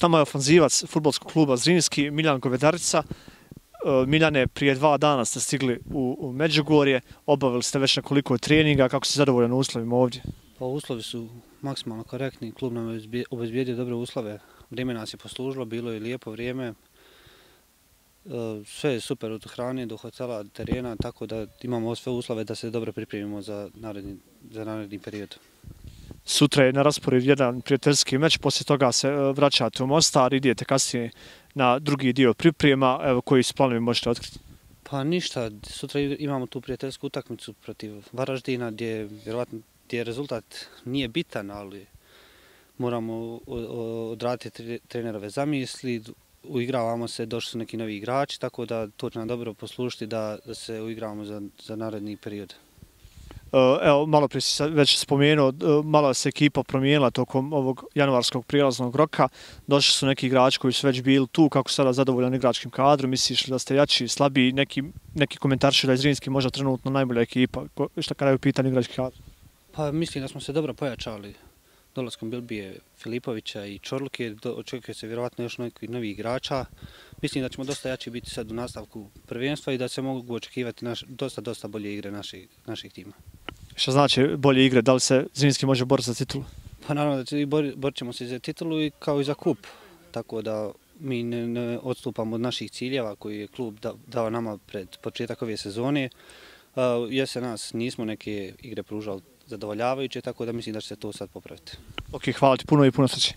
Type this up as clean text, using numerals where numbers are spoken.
S nama je ofanzivac fudbalskog kluba Zrinski, Miljan Govedarica. Miljane, prije 2 dana ste stigli u Međugorje, obavili ste već nekoliko treninga, kako ste zadovoljan uslovima ovdje? Pa uslovi su maksimalno korektni, klub nam je obezbijedio dobre uslove, vrijeme nas je poslužilo, bilo je lijepo vrijeme, sve je super od hrane do hotela, terena, tako da imamo sve uslove da se dobro pripremimo za naredni period. Sutra je na rasporedu jedan prijateljski meč, poslije toga se vraćate u Mostar, idete kasnije na drugi dio priprema, evo koji su planovi možete otkriti? Pa ništa, sutra imamo tu prijateljsku utakmicu protiv Varaždina gdje vjerovatno rezultat nije bitan, ali moramo odraditi trenerove zamisli, uigravamo se, došli su neki novi igrači, tako da to će nam dobro poslužiti da se uigravamo za naredni period. Evo, malo prije si već spomenuo, malo se ekipa promijenila tokom ovog januarskog prijelaznog roka. Došli su neki igrači koji su već bili tu, kako sada zadovoljan igračkim kadrom, misliš da ste jači, slabiji, neki komentarši da je Zrinski možda trenutno najbolja ekipa, šta kada je u pitanju igrački kadar? Pa mislim da smo se dobro pojačali dolaskom Bilbije Filipovića i Čorluke, očekuje se vjerovatno još neki novi igrača. Mislim da ćemo dosta jači biti sad u nastavku prvenstva i da se mogu očekivati dosta bolje igre naših tima. Šta znači bolje igre? Da li se Zrinski može boriti za titulu? Pa naravno da borit ćemo se za titulu kao i za kup, tako da mi ne odstupamo od naših ciljeva koji je klub dao nama pred početak ove sezone. Jesen nas nismo neke igre pružali zadovoljavajuće, tako da mislim da će se to sad popraviti. Ok, hvala ti puno i puno sreće.